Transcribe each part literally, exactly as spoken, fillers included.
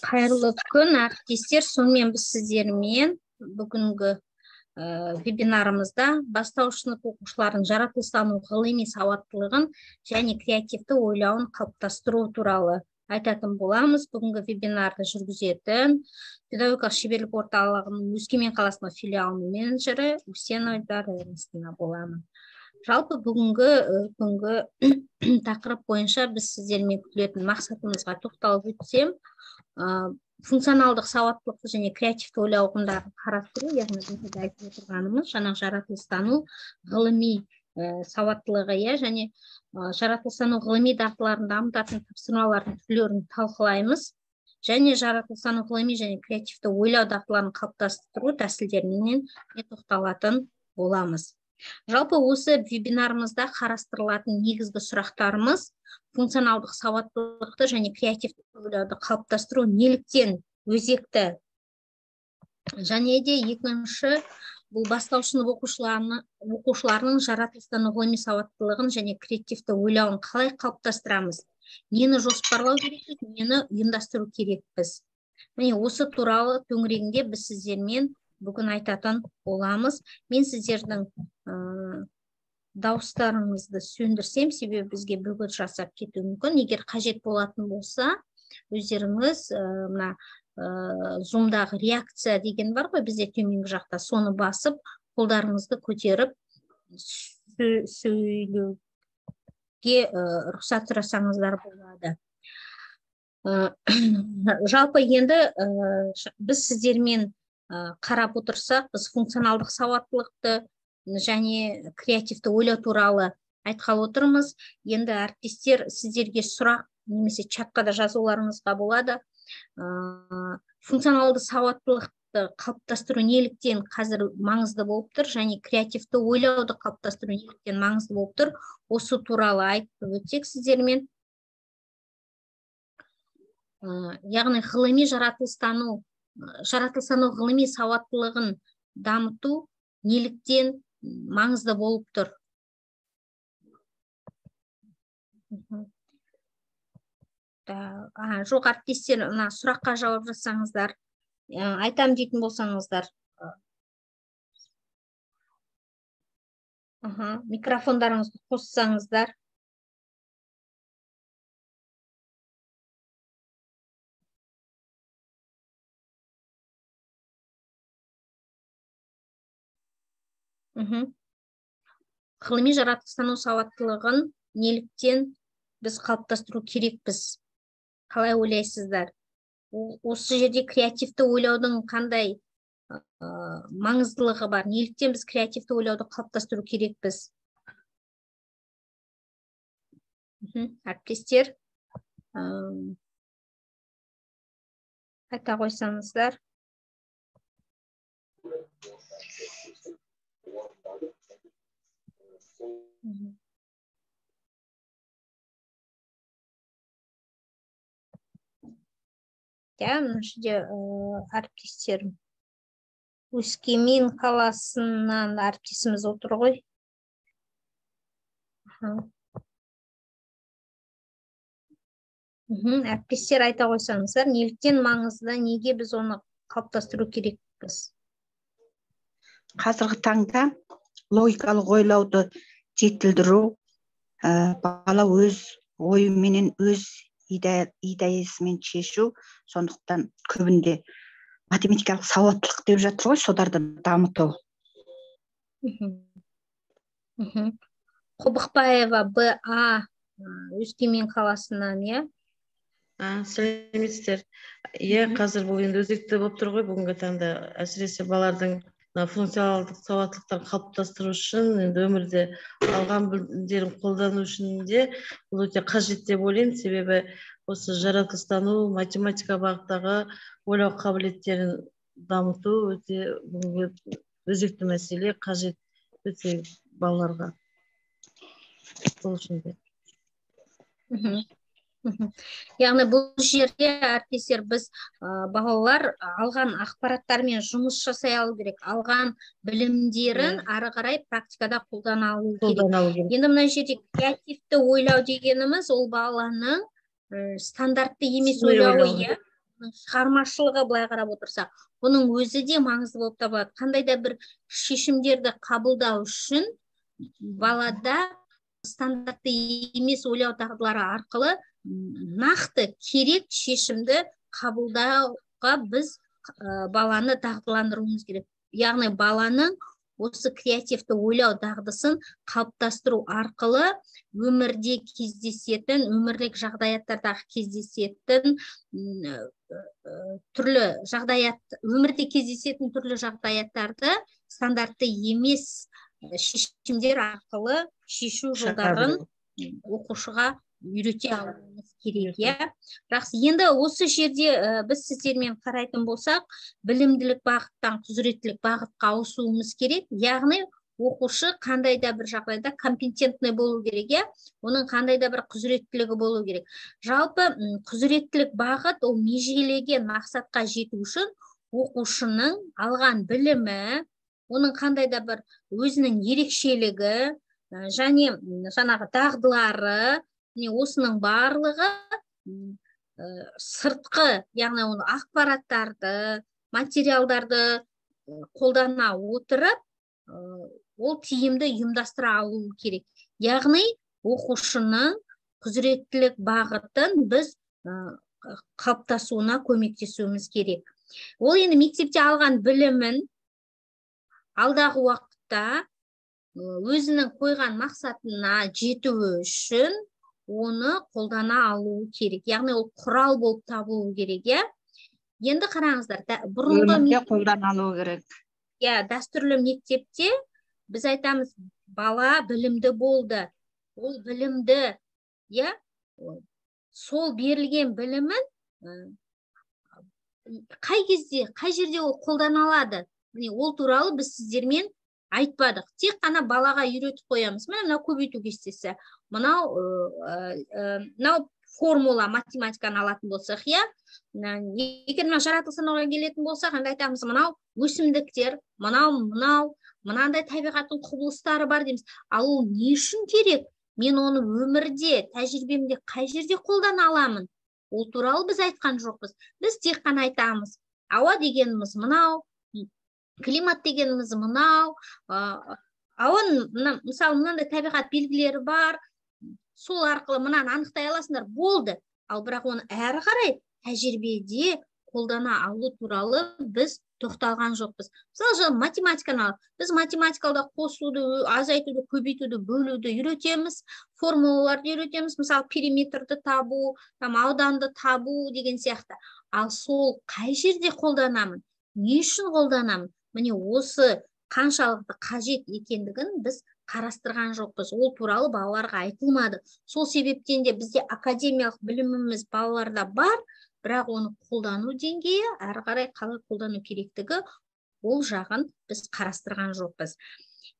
Қайырлы күн, әріптестер. Сонымен біз сіздермен бүгінгі вебинарымызда бастауыш сынып оқушылардың жаратылыстану ғылыми сауаттылығын және креативті ойлауын қалыптастыру туралы айтатын боламыз. Бүгінгі вебинарды жүргізетін педагогикалық шеберлік орталығының Өскемен қаласының филиалының менеджері Усенова Дарья боламын. Жалпы бүгінгі күнгі тақырып бойынша біз сіздермен күтілетін мақсатымызға тоқталып өтсем, функционалдық сауаттылықты және креативті ойлау ұғымдарын қарастыру, яғни біз айтып отырғанымыз жаңа жаратылыстану ғылыми сауаттылығы және жаратылыстану ғылыми дағдыларын дамытатын тапсырмалардың түрлерін талқылаймыз және жаратылыстану ғылыми және креативті ойлау дағдыларын қалыптастыру тәсілдерінен тоқталатын боламыз. Жалпы осы вебинарымызда қарастырылатын негізгі сұрақтарымыз функционалдық сауаттылықты және креативті ойлауды қалыптастыру неліктен өзекті, және де екінші бұл бастауыш сынып оқушыларының жаратылыстану ғылыми сауаттылығын және креативті ойлауын қалай қалыптастырамыз, нені жоспарлау керекпіз, нені ұйымдастыру керекпіз. Міне осы туралы төңірегінде біз сіздермен бүгін айтатын боламыз. Мен сіздердің дауыстарыңызды сөндірсем, себебі бізге бөгет жасап кетуі мүмкін. Егер қажет болатын болса, өздеріңіз мына зумдағы реакция деген бар ғой, бізде төменгі жақта, соны басып, қолдарыңызды көтеріп сөйлеуге рұқсат сұрасаңыздар болады. Жалпы енді біз сіздермен қарап отырсақ, біз функционалдық сауаттылықты және креативті ойлау туралы айтқалы отырмыз. Енді әріптестер сіздерге сұрақ немесе чатқа да жазуларыңызға болады. Функционалды сауаттылықты қалыптастыру неліктен қазір маңызды болып тұр, және креативті ойлауды қалыптастыру неліктен маңызды болып тұр. Осы туралы айтып өтсек сіздермен. Яғни ғылыми жаратылыстану жаратылыстану ғылыми сауаттылығын дамыту неліктен маңызды болып тұр. Жоқ, әріптестер, сұраққа жауап жасаңыздар, айтам дейтін болсаңыздар. Микрофондарыңызды қоссаңыздар. Ғылыми жаратылыстану сауаттылығын неліктен біз қалыптастыру керекпіз? Қалай ойлайсыздар? Осы жерде креативті ойлаудың қандай маңыздылығы бар? Неліктен біз креативті ойлауды қалыптастыру керекпіз? Әріптестер, айта қойсаңыздар. Ja, мына жерде әріптестерім Өскемен қаласынан әріптесіміз отыр ғой. Әріптестер айта қойсаңыздар, неліктен маңызды, неге біз оны қалыптастыру керекпіз? Қазіргі таңда логикалық ойлауды жетілдіру, бала өз ойыменен өз идеясымен шешу, сондықтан көбінде математикалық сауаттылық деп жатыр ғой, соларды дамыту. Қобықбаева Б А Өскемен қаласынан, е? Сәлеметсіздер. Е, қазір бұл енді өзекті болып тұр ғой, бүгінгі таңда әсіресе балалардың функционалдық сауаттылықтарын қалыптастыру үшін, енді өмірде алған білімдерін қолдану үшін де бұл өте қажет деп ойлаймын, себебі осы жаратылыстану, математика бағыттағы ойлау қабілеттерін дамыту өте өзекті мәселе, қажет өте балаларға. Бұл үшін де. Яғни бұл жерде әріптестер біз балалар алған ақпараттармен жұмыс жасай алу керек, алған білімдерін ары қарай практикада қолдана алу керек. Енді мына жерде креативті ойлау дегеніміз ол баланың стандартты емес Сыни ойлауы, ойлауы. иә, шығармашылығы былай қарап отырсақ, бұның өзі де маңызды болып табылады. Қандай да бір шешімдерді қабылдау үшін балада стандартты емес ойлау дағдылары арқылы нақты керек шешімді қабылдауға біз баланы дағдыландыруымыз керек. Яғни баланың осы креативті ойлау дағдысын қалыптастыру арқылы өмірде кездесетін, өмірлік жағдаяттардағы кездесетін түрлі жағдаят, өмірде кездесетін түрлі жағдаяттарды стандартты емес шешімдер арқылы шешу жолдарын оқушыға үйрете алуымыз керек, иә. Жақсы, енді осы жерде біз сіздермен қарайтын болсақ, білімділік бағыттан құзыреттілік бағытқа ауысуымыз керек. Яғни оқушы қандай да бір жағдайда компетентный болу керек, иә, оның қандай да бір құзыреттілігі болу керек. Жалпы құзыреттілік бағыт ол межелеген мақсатқа жету үшін оқушының алған білімі, оның қандай да бір өзінің ерекшелігі және жаңағы дағдылары, осының барлығы сыртқы, яғни оны ақпараттарды, материалдарды қолдана отырып, ол тиімді ұйымдастыра алу керек. Яғни оқушының құзыреттілік бағытын біз қалыптасуына көмектесуіміз керек. Ол енді мектепте алған білімін алдағы уақытта өзінің қойған мақсатына жету үшін оны қолдана алу керек. Яғни ол құрал болып табылу керек, иә. Енді қараңыздар, бұрынғы қолдана алу керек. Иә, дәстүрлі мектепте біз айтамыз, бала білімді болды. Ол білімді, иә, сол берілген білімін қай кезде, қай жерде ол қолдана алады? Ол туралы біз сіздермен айтпадық. Тек қана балаға үйретіп қоямыз. Мынау көбейту кестесі. Мынау мынау формула математиканы алатын болсақ, иә. Егер мына жаратылыстануға келетін болсақ, анда айтамыз, мынау өсімдіктер, мынау, мынау, мынандай табиғаттың құбылыстары бар дейміз. Ал ол не үшін керек? Мен оны өмірде, тәжірибемде қай жерде қолдана аламын? Ол туралы біз айтқан жоқпыз. Біз тек қана айтамыз. Ауа дегеніміз мынау, климат дегеніміз мынау, ауын, мысалы, мынандай табиғат белгілері бар, сол арқылы мынаны анықтай аласыңдар, болды. Ал бірақ оны әрі қарай тәжірибеде қолдана алу туралы біз тоқталған жоқпыз. Мысалы, математиканы алып, біз математикалда қосуды, азайтуды, көбейтуді, бөлуді үйретеміз, формулаларды үйретеміз, мысалы, периметрді табу, ауданды табу деген сияқты. Ал сол қай жерде қолданамын? Не үшін қолданамын? Міне осы қаншалықты қажет екендігін біз қарастырған жоқпыз. Ол туралы балаларға айтылмады. Сол себептен де бізде академиялық біліміміз балаларда бар, бірақ оны қолдану деңгейі, әрі қарай қалай қолдану керектігі, ол жағын біз қарастырған жоқпыз.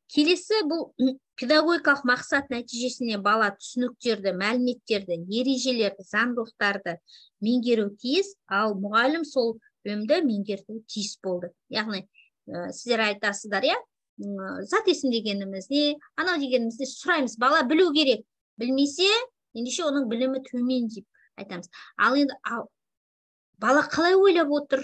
Келесі бұл педагогикалық мақсат нәтижесіне бала түсініктерді, мәліметтерді, ережелерді, заңдылықтарды меңгеру тиіс, ал мұғалім сол білімді меңгерту тиіс болды. Яғни сіздер айтасыздар, иә, зат есім дегеніміз не, анау дегеніміз не сұраймыз, бала білу керек. Білмесе, ендеше оның білімі төмен деп айтамыз. Ал енді бала қалай ойлап отыр?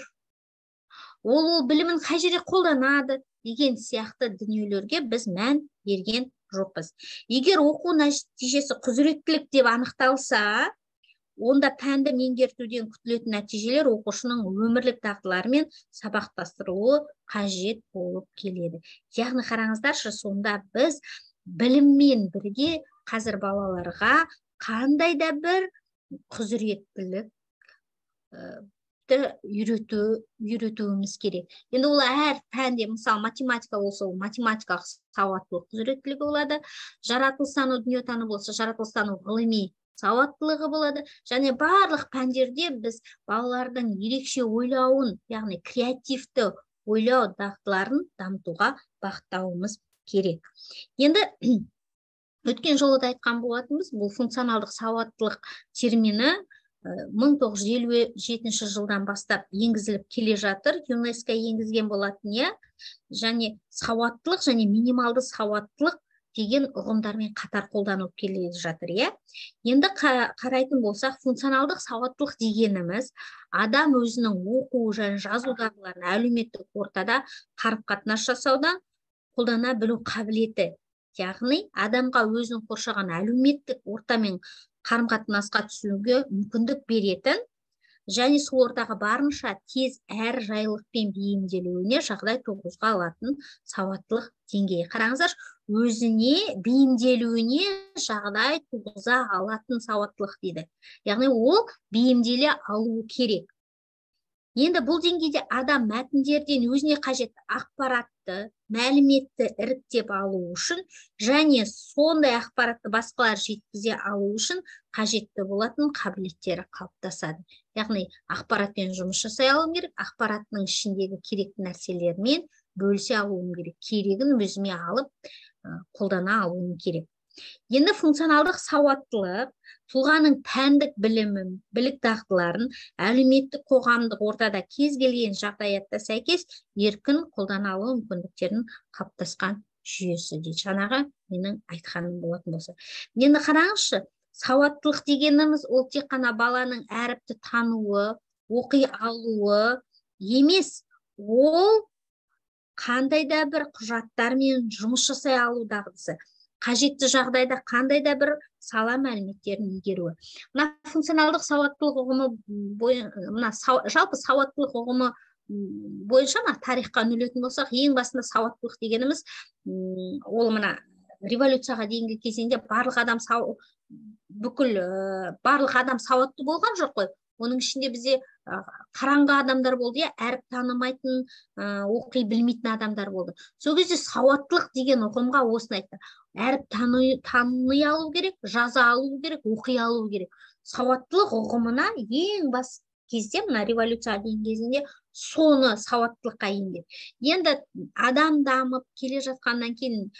Ол ол білімін қай жерде қолданады деген сияқты дүниелерге біз мән берген жоқпыз. Егер оқу нәтижесі құзыреттілік деп анықталса, онда пәнді меңгертуден күтілетін нәтижелер оқушының өмірлік дағдыларымен сабақтастырылуы қажет болып келеді. Яғни қараңыздаршы, сонда біз біліммен бірге қазір балаларға қандай да бір құзыреттілік үйретуіміз керек. Енді ол әр пәнде, мысалы, математика болса, ол математикалық сауаттылық құзыреттілігі болады, жаратылыстану, дүниетану болса, жаратылыстану ғылыми сауаттылығы болады, және барлық пәндерде біз балалардың ерекше ойлауын, яғни креативті ойлау дағдыларын дамытуға бағыттауымыз керек. Енді өткен жолы да айтқан болатынбыз, бұл функционалдық сауаттылық термині мың тоғыз жүз елу жетінші жылдан бастап енгізіліп келе жатыр, ЮНЕСКО енгізген болатын, иә, және сауаттылық және минималды сауаттылық деген ұғымдармен қатар қолданылып келе жатыр, иә. Енді қарайтын болсақ, функционалдық сауаттылық дегеніміз адам өзінің оқу және жазу дағдыларын әлеуметтік ортада қарым-қатынас жасауда қолдана білу қабілеті. Яғни адамға өзінің қоршаған әлеуметтік ортамен қарым-қатынасқа түсуге мүмкіндік беретін және сол ортаға барынша тез әр жайлылықпен бейімделуіне жағдай туғызға алатын сауаттылық деңгейі. Қараңыздар, өзіне бейімделуіне жағдай туғыза алатын сауаттылық дейді. Яғни ол бейімделе алуы керек. Енді бұл деңгейде адам мәтіндерден өзіне қажетті ақпаратты, мәліметті іріктеп алу үшін және сондай ақпаратты басқалар жеткізе алу үшін қажетті болатын қабілеттері қалыптасады. Яғни ақпаратпен жұмыс жасай алуым керек, ақпараттың ішіндегі керекті нәрселермен бөлісе алуым керек, керегін өзіме алып қолдана алуым керек. Енді функционалдық сауаттылық тұлғаның пәндік білімін, білік дағдыларын әлеуметтік қоғамдық ортада кез келген жағдаятта сәйкес еркін қолдана алу мүмкіндіктерін қалыптасқан жүйесі дейді. Жаңағы менің айтқаным болатын болса. Енді қараңызшы, сауаттылық дегеніміз ол тек қана баланың әріпті тануы, оқи алуы емес, ол қандай да бір құжаттармен жұмыс жасай алу дағдысы. Қажетті жағдайда қандай да бір сала мәліметтерін игеруі. Мына функционалдық сауаттылық ұғымы мына жалпы сауаттылық ұғымы бойынша ма тарихқа үңілетін болсақ, ең басында сауаттылық дегеніміз ол мына революцияға дейінгі кезеңде барлық адам сау бүкіл барлық адам сауатты болған жоқ қой. Оның ішінде бізде қараңғы адамдар болды, әріп танымайтын, оқи білмейтін адамдар болды. Сол кезде сауаттылық деген ұғымға осыны айтты. Әріп таный алу керек, жаза алу керек, оқи алу керек. Сауаттылық ұғымына ең бас кезде, мына революция дейін кезінде соны сауаттылыққа енген. Енді адам дамып келе жатқаннан кейін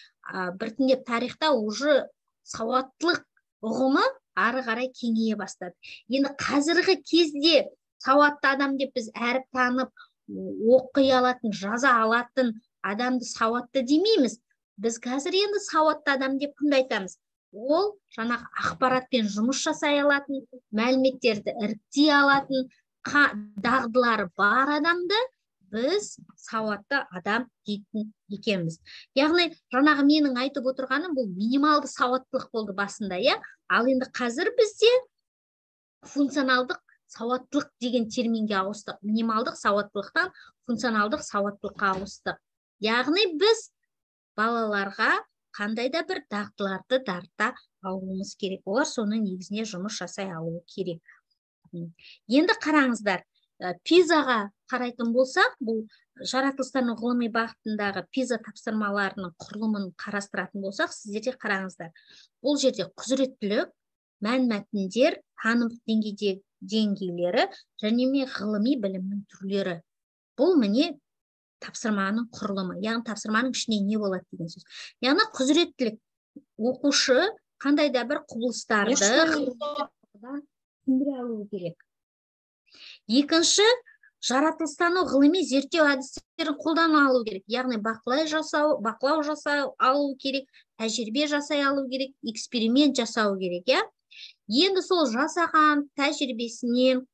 біртіндеп тарихта уже сауаттылық ұғымы ары қарай кеңейе бастады. Енді қазіргі кезде сауатты адам деп біз әріп танып, оқи алатын, жаза алатын адамды сауатты демейміз. Біз қазір енді сауатты адам деп кімді айтамыз? Ол жаңағы ақпаратпен жұмыс жасай алатын, мәліметтерді іріктей алатын, дағдылары бар адамды біз сауатты адам дейтін екенбіз. Яғни, жаңағы менің айтып отырғаным бұл минималды сауаттылық болды басында, иә? Ал енді қазір бізде функционалдық сауаттылық деген терминге ауыстық. Минималдық сауаттылықтан функционалдық сауаттылыққа ауыстық. Яғни біз балаларға қандай да бір дағдыларды дарыта алуымыз керек. Олар соның негізіне жұмыс жасай алуы керек. Енді қараңыздар, пизаға қарайтын болсақ, бұл жаратылыстану ғылыми бағытындағы пиза тапсырмаларының құрылымын қарастыратын болсақ, сіздерде қараңыздар. Бұл жерде құзыреттілік, мәнмәтіндер, танымдық деңгейдегі деңгейлері және ғылыми білімнің түрлері. Бұл міне тапсырманың құрылымы. Яғни тапсырманың ішінде не болады деген сөз. Яғни құзыреттілік, оқушы қандай да бір құбылыстарды түсіндіре алуы керек. Екінші, жаратылыстану ғылыми зерттеу әдістерін қолдана алу керек. Яғни бақылау жасау, бақылау жасау алу керек, тәжірибе жасай алу керек, эксперимент жасау керек, иә? Енді сол жасаған тәжірибесінен,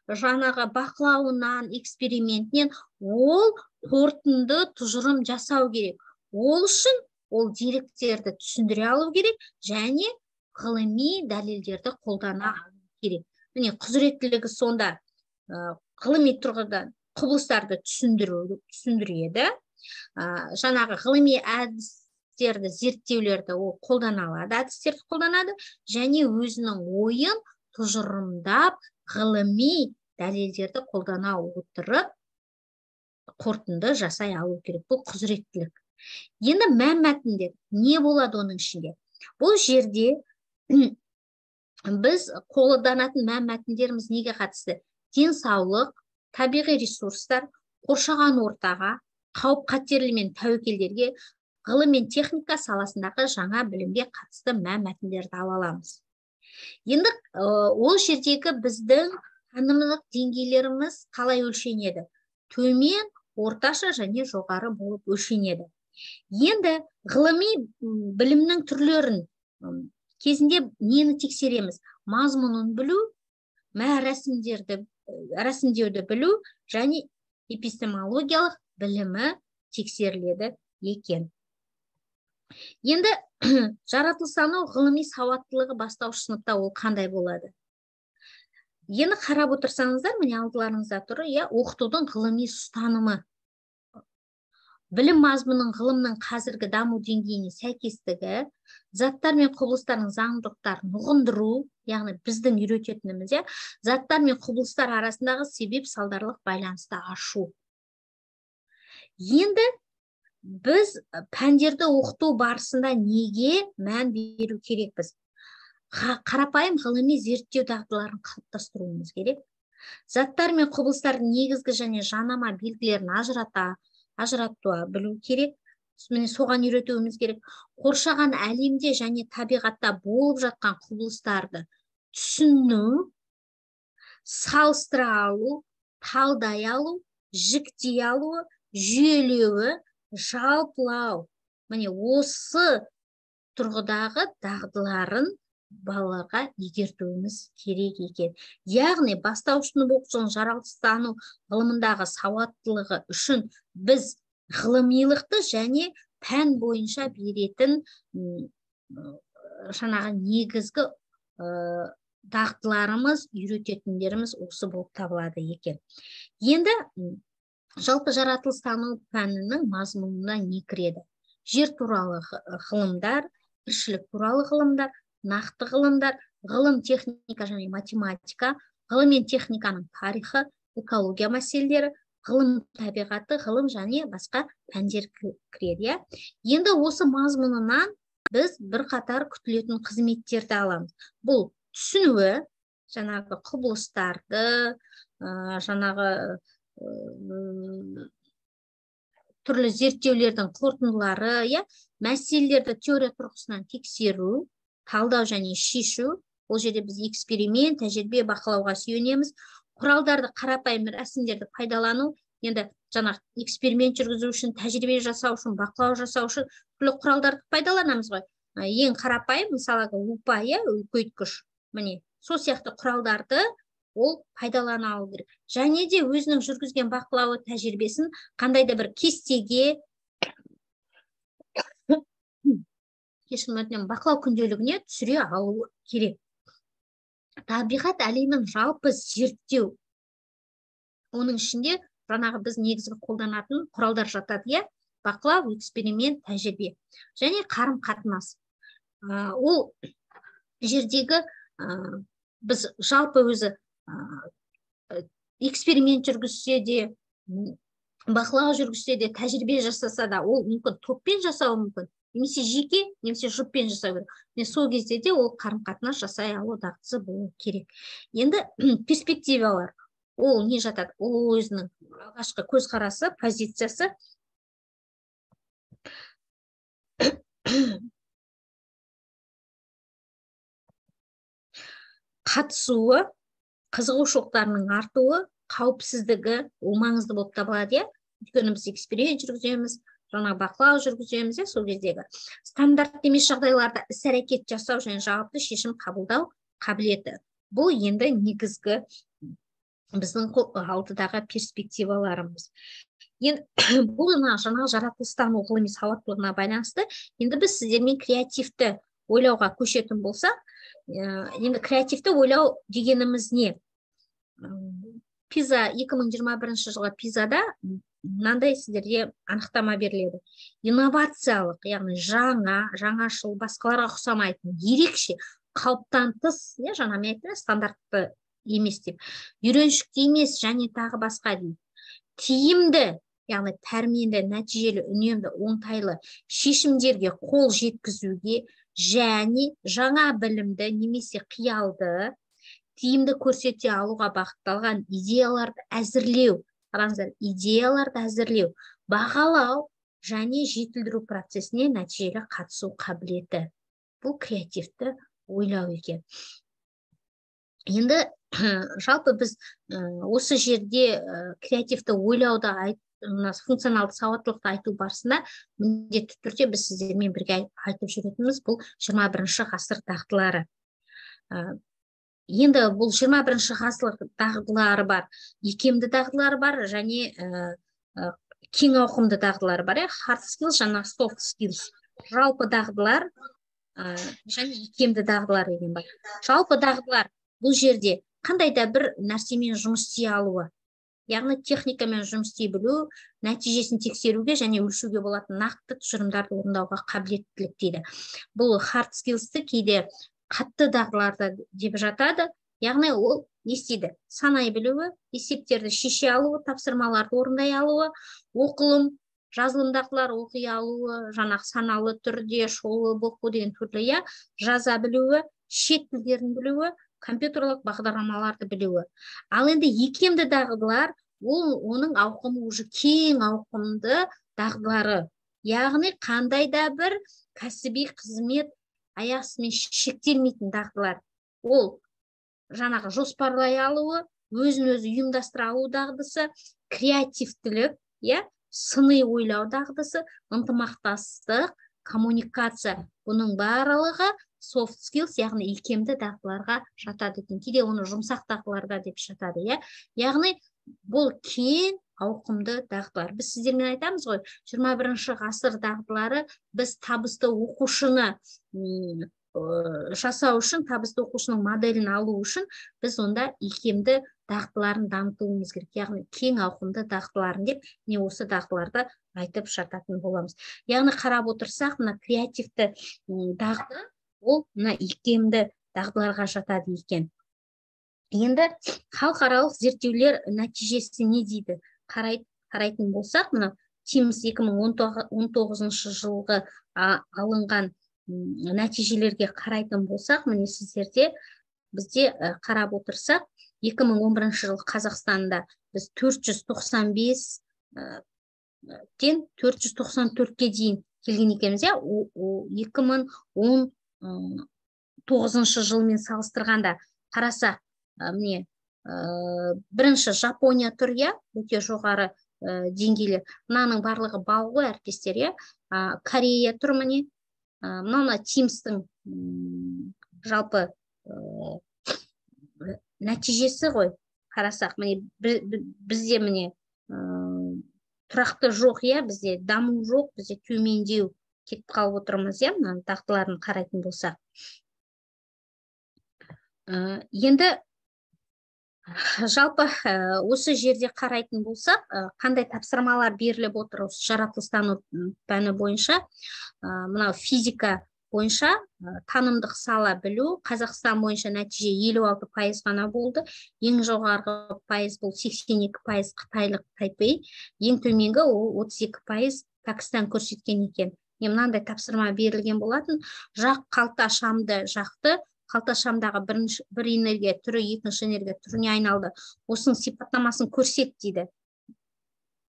жаңағы бақылауынан, экспериментінен ол қорытынды тұжырым жасау керек. Ол үшін ол деректерді түсіндіре алу керек және ғылыми дәлелдерді қолдана алу керек. Міне құзыреттілігі сонда ғылыми тұрғыдан құбылыстарды түсіндіреді. Жаңағы ғылыми әдістерді, зерттеулерді ол қолдана алады, әдістерді қолданады және өзінің ойын тұжырымдап, ғылыми дәлелдерді қолдана отырып, қорытынды жасай алу керек. Бұл құзыреттілік. Енді мәнмәтіндер не болады оның ішінде? Бұл жерде біз қолданатын мәнмәтіндеріміз неге қатысты? Денсаулық, табиғи ресурстар, қоршаған ортаға, қауіп қатерлі мен тәуекелдерге, ғылым мен техника саласындағы жаңа білімге қатысты мәнмәтіндерді ала аламыз. Енді ол жердегі біздің танымдық деңгейлеріміз қалай өлшенеді? Төмен, орташа және жоғары болып өлшенеді. Енді ғылыми білімнің түрлерін кезінде нені тексереміз? Мазмұнын білу, мә рәсімдерді, рәсімдеуді білу және эпистемологиялық білімі тексеріледі екен. Енді жаратылыстану ғылыми сауаттылығы бастауыш сыныпта ол қандай болады? Енді қарап отырсаңыздар, міне алдыларыңызда тұр, иә, оқытудың ғылыми ұстанымы. Білім мазмұнының ғылымның қазіргі даму деңгейіне сәйкестігі, заттар мен құбылыстардың заңдылықтарын ұғындыру, яғни біздің үйрететініміз, иә, заттар мен құбылыстар арасындағы себеп салдарлық байланысты ашу. Енді біз пәндерді оқыту барысында неге мән беру керекпіз? Қарапайым ғылыми зерттеу дағдыларын қалыптастыруымыз керек. Заттар мен құбылыстардың негізгі және жанама белгілерін ажырата ажыратуа білу керек. Міне соған үйретуіміз керек. Қоршаған әлемде және табиғатта болып жатқан құбылыстарды түсіну, салыстыра алу, талдай алу, жіктей алуы, жүйелеуі, жалпылау. Міне осы тұрғыдағы дағдыларын балаларға игертуіміз керек екен. Яғни бастауыш сынып оқушының жаратылыстану ғылымындағы сауаттылығы үшін біз ғылымилықты және пән бойынша беретін жаңағы негізгі дағдыларымыз, үйрететіндеріміз осы болып табылады екен. Енді жалпы жаратылыстану пәнінің мазмұнына не кіреді? Жер туралы ғылымдар, тіршілік туралы ғылымдар, нақты ғылымдар, ғылым, техника және математика, ғылым мен техниканың тарихы, экология мәселелері, ғылым табиғаты, ғылым және басқа пәндер кіреді. Енді осы мазмұнынан біз бір қатар күтілетін қызметтерді аламыз. Бұл түсінуі, жаңағы құбылыстарды, жаңағы түрлі зерттеулердің қорытындылары, мәселелерді теория тұрғысынан тексеру, талдау және шешу. Ол жерде біз эксперимент, тәжірибе, бақылауға сүйенеміз. Құралдарды, қарапайым рәсімдерді пайдалану, енді жаңағы эксперимент жүргізу үшін, тәжірибе жасау үшін, бақылау жасау үшін түрлі құралдарды пайдаланамыз ғой. Ең қарапайым, мысалы, лупа, үлкейткіш. Міне, сол сияқты құралдарды ол пайдалана алу керек. Және де өзінің жүргізген бақылауы тәжірибесін қандай да бір кестеге, кешірім, бақылау күнделігіне түсіре алу керек. Табиғат әлемін жалпы зерттеу. Оның ішінде жаңағы біз негізгі қолданатын құралдар жатады, бақылау, эксперимент, тәжірибе және қарым-қатынас. Ол жердегі біз жалпы өзі эксперимент жүргізсе де, бақылау жүргізсе де, тәжірибе жасаса да, ол мүмкін топпен жасауы мүмкін, немесе жеке, немесе жұппен жасау керек. Мен сол кезде де ол қарым-қатынас жасай алу дағдысы болу керек. Енді перспективалар, ол не жатады? Ол өзінің алғашқы көзқарасы, позициясы. Қатысуы, қызығушылықтарының артуы, қауіпсіздігі, ол маңызды болып табылады. Өйткені біз эксперимент жүргіземіз, жаңа бақылау жүргіземіз, сол кездегі стандарт емес жағдайларда іс-әрекет жасау және жауапты шешім қабылдау қабілеті. Бұл енді негізгі біздің алдыдағы перспективаларымыз. Енді бұл жаңа жаратылыстану ғылыми сауаттылығына байланысты, енді біз сіздермен креативті ойлауға көшетін болсақ, енді креативті ойлау дегеніміз не? Пиза екі мың жиырма бірінші жылғы Пизада мынандай сіздерге анықтама беріледі. Инновациялық, яғни жаңа, жаңашыл, басқаларға ұқсамайтын, ерекше, қалыптан тыс, жаңа мен айттым, стандартты емес деп, үйреншікті емес және тағы басқа дейді. Тиімді, яғни пәрменді, нәтижелі, үнемді, оңтайлы шешімдерге қол жеткізуге және жаңа білімді немесе қиялды тиімді көрсете алуға бағытталған идеяларды әзірлеу, қараңыздар, идеяларды әзірлеу, бағалау және жетілдіру процесіне нәтижелі қатысу қабілеті. Бұл креативті ойлау екен. Енді жалпы біз осы жерде креативті ойлауда функционалды сауаттылықты айту барысында міндетті түрде біз сіздермен бірге айтып жүретініміз бұл жиырма бірінші ғасыр дағдылары. Енді бұл жиырма бірінші ғасыр дағдылары бар, икемді дағдылары бар және кең ауқымды дағдылары бар. Hard skills және soft skills. Жалпы дағдылар және икемді дағдылар деген бар. Жалпы дағдылар бұл жерде қандай да бір нәрсемен жұмыс істей алуы, яғни техникамен жұмыс істей білу, нәтижесін тексеруге және өлшеуге болатын нақты тұжырымдарды орындауға қабілеттілік дейді. Бұл hard skills'ті кейде қатты дағдыларды деп жатады. Яғни ол не істейді? Санай білуі, есептерді шеше алуы, тапсырмаларды орындай алуы, оқылым, жазылым дағдылар оқи алуы, жаңағы саналы түрде, шолып оқу деген түрлі, иә, жаза білуі, шет тілдерін білуі, компьютерлік бағдарламаларды білуі. Ал енді икемді дағдылар, ол оның ауқымы уже кең ауқымды дағдылары. Яғни қандай да бір кәсіби қызмет аясымен шектелмейтін дағдылар. Ол жаңағы жоспарлай алуы, өзін-өзі ұйымдастыра алу дағдысы, креативтілік, иә, сыни ойлау дағдысы, ынтымақтастық, коммуникация. Бұның барлығы soft skills, яғни икемді дағдыларға жатады екен. Кейде оны жұмсақ дағдыларға деп жатады, иә. Яғни бұл кең ауқымды дағдылар. Біз сіздермен айтамыз ғой, жиырма бірінші ғасыр дағдылары біз табысты оқушыны жасау үшін, табысты оқушының моделін алу үшін біз онда икемді дағдыларын дамытуымыз керек. Яғни кең ауқымды дағдыларын деп, не осы дағдыларды айтып жататын боламыз. Яғни қарап отырсақ, мына креативті дағды ол мына икемді дағдыларға жатады екен. Енді халықаралық зерттеулер нәтижесі не дейді? Қарайтын болсақ, мына Тимс екі мың он тоғызыншы жылғы алынған нәтижелерге қарайтын болсақ, міне сіздерде бізде қарап отырсақ, екі мың он бірінші жылы Қазақстанда біз төрт жүз тоқсан бес тен төрт жүз тоқсан төртке дейін келген екенбіз, екі мың он тоғызыншы жылмен салыстырғанда қарасақ, міне бірінші Жапония тұр, иә, өте жоғары деңгейлер. Мынаның барлығы балл ғой, әріптестер, иә. Корея тұр, міне. Мына Тимстің жалпы нәтижесі ғой, қарасақ, міне бізде міне тұрақты жоқ, иә, бізде даму жоқ, бізде төмендеу кетіп қалып отырмыз, иә, мына дағдыларын қарайтын болсақ. Енді жалпы осы жерде қарайтын болсақ, қандай тапсырмалар беріліп отыр осы жаратылыстану пәні бойынша? Мынау физика бойынша танымдық сала білу, Қазақстан бойынша нәтиже елу алты пайыз ғана болды. Ең жоғарғы пайыз бұл сексен екі пайыз қытайлық Тайпей, ең төменгі ол отыз екі пайыз Пәкістан көрсеткен екен. Мынандай тапсырма берілген болатын. Жақ қалта шамды жақты, қалта шамдағы бір энергия түрі екінші энергия түріне айналды. Осының сипаттамасын көрсет дейді.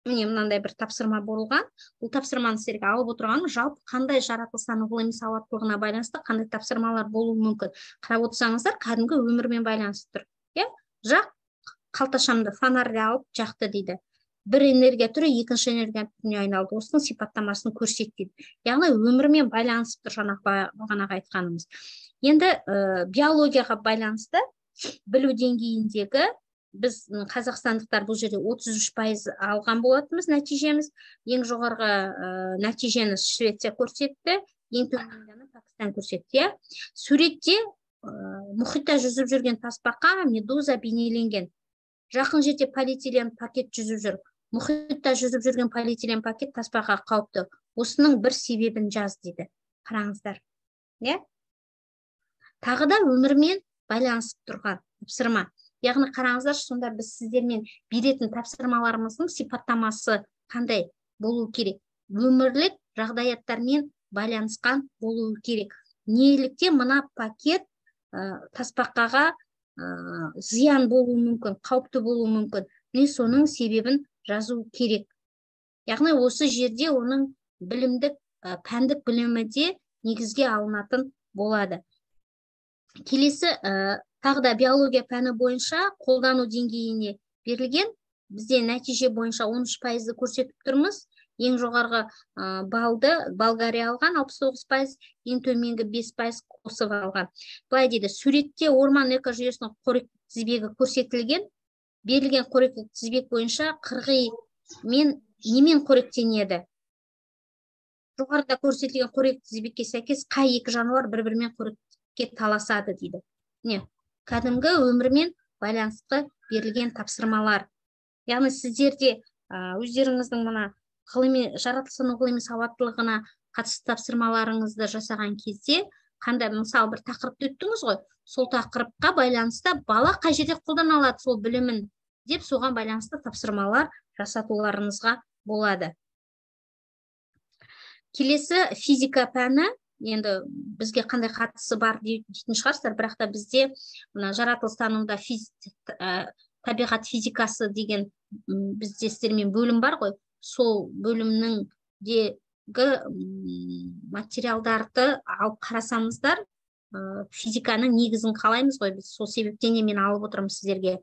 Міне мынандай бір тапсырма болған. Бұл тапсырманы сіздерге алып отырғаным, жалпы қандай жаратылыстану ғылыми сауаттылығына байланысты қандай тапсырмалар болуы мүмкін. Қарап отырсаңыздар, кәдімгі өмірмен байланысты тұр. Жақ қалта шамды фонарьды алып жақты дейді. Бір энергия түрі екінші энергия түріне айналды. Осының сипаттамасын көрсет дейді. Яғни өмірмен байланысып тұр, бағанағы айтқанымыз. Енді биологияға байланысты білу деңгейіндегі біз қазақстандықтар бұл жерде отыз үш пайыз алған болатынбыз нәтижеміз. Ең жоғарғы нәтижені Швеция көрсетті, ең төмендені Пәкістан көрсетті. Суретте мұхитта жүзіп жүрген тасбақа медуза бейнеленген. Жақын жерде полиэтилен пакет жүзіп жүр. Мұхитта жүзіп жүрген полиэтилен пакет тасбақа қауіпті. Осының бір себебін жаз дейді. Қараңыздар. Тағы да өмірмен байланысып тұрған тапсырма. Яғни қараңыздар, сонда біз сіздермен беретін тапсырмаларымыздың сипаттамасы қандай болу керек? Өмірлік жағдаяттармен байланысқан болу керек. Неліктен мына пакет тасбақаға зиян болуы мүмкін, қауіпті болуы мүмкін. Не соның себебін жазу керек. Яғни осы жерде оның білімдік, пәндік білімі де негізге алынатын болады. Келесі тағы да биология пәні бойынша қолдану деңгейіне берілген бізде нәтиже бойынша он үш пайызды көрсетіп тұрмыз. Ең жоғарғы балды Болгария алған алпыс тоғыз пайыз, ең төменгі бес пайыз Косово алған. Былай дейді, суретте орман экожүйесінің қоректік тізбегі көрсетілген. Берілген қоректік тізбек бойынша қырғи мен немен қоректенеді? Жоғарыда көрсетілген қоректік тізбекке сәйкес қай екі жануар бір-бірімен қоректікке таласады дейді. Не? Кәдімгі өмірмен байланысты берілген тапсырмалар. Яғни сіздерде өздеріңіздің мына ғылыми жаратылыстану ғылыми сауаттылығына қатысты тапсырмаларыңызды жасаған кезде, қандай мысалы бір тақырыпты өттіңіз ғой, сол тақырыпқа байланысты бала қай жерде қолдана алады сол білімін деп соған байланысты тапсырмалар жасатуларыңызға болады. Келесі физика пәні, енді бізге қандай қатысы бар дейтін шығарсыздар, бірақ та бізде мына жаратылыстануда табиғат физикасы деген бізде сіздермен бөлім бар ғой, сол бөлімнің дегі материалдарды алып қарасаңыздар, физиканың негізін қалаймыз ғой, біз сол себептен мен алып отырмын сіздерге.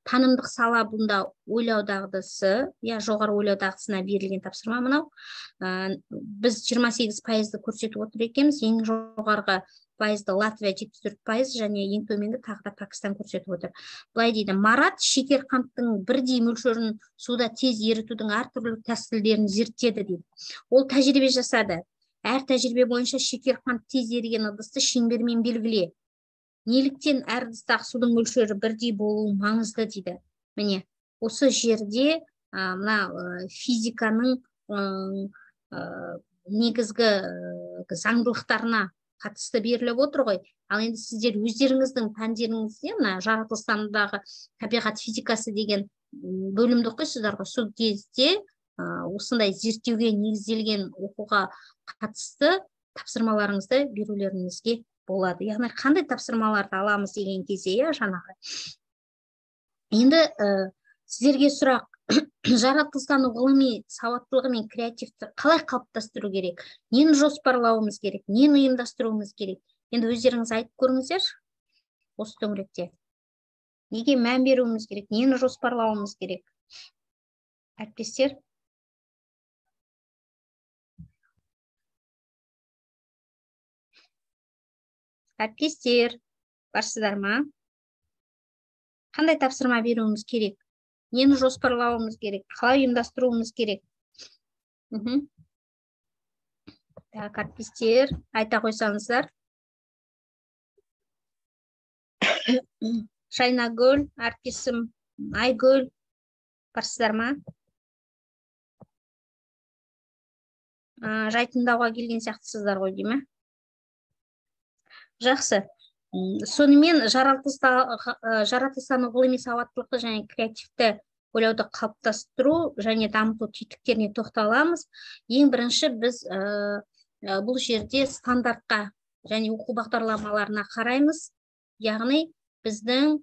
Танымдық сала бұнда ойлау дағдысы, я жоғары ойлау дағдысына берілген тапсырма мынау. Біз жиырма сегіз пайызды көрсетіп отыр екенбіз, ең жоғарғы пайызды Латвия жетпіс төрт пайыз және ең төменгі тағы да Пакистан көрсетіп отыр. Былай дейді, Марат шекер қанттың бірдей мөлшерін суда тез ерітудің әртүрлі тәсілдерін зерттеді дейді. Ол тәжірибе жасады. Әр тәжірибе бойынша шекер қант тез еріген ыдысты шеңбермен белгіле. Неліктен әр ыдыстағы судың мөлшері бірдей болуы маңызды дейді. Міне, осы жерде мына физиканың негізгі заңдылықтарына қатысты беріліп отыр ғой. Ал енді сіздер өздеріңіздің пәндеріңізде мына жаратылыстанудағы табиғат физикасы деген бөлімді оқисыздар ғой. Сол кезде осындай зерттеуге негізделген оқуға қатысты тапсырмаларыңызды берулеріңізге болады. Яғни қандай тапсырмаларды аламыз деген кезде, я жаңағы. Енді сіздерге сұрақ, жаратылыстану ғылыми сауаттылығы мен креативті қалай қалыптастыру керек? Нені жоспарлауымыз керек? Нені ұйымдастыруымыз керек? Енді өздеріңіз айтып көріңіздер осы төңіректе. Неге мән беруіміз керек? Нені жоспарлауымыз керек? Әріптестер? Әріптестер, барсыздар ма? Қандай тапсырма беруіміз керек? Нені жоспарлауымыз керек? Қалай ұйымдастыруымыз керек? Так, әріптестер, айта қойсаңыздар. Шайнагүл, әріптесім Айгүл, барсыздар ма? Жай тыңдауға келген сияқтысыздар ғой дейме? Жақсы. Сонымен жаратылыстану ғылыми сауаттылықты және креативті ойлауды қалыптастыру және дамыту тетіктеріне тоқталамыз. Ең бірінші біз бұл жерде стандартқа және оқу бағдарламаларына қараймыз. Яғни біздің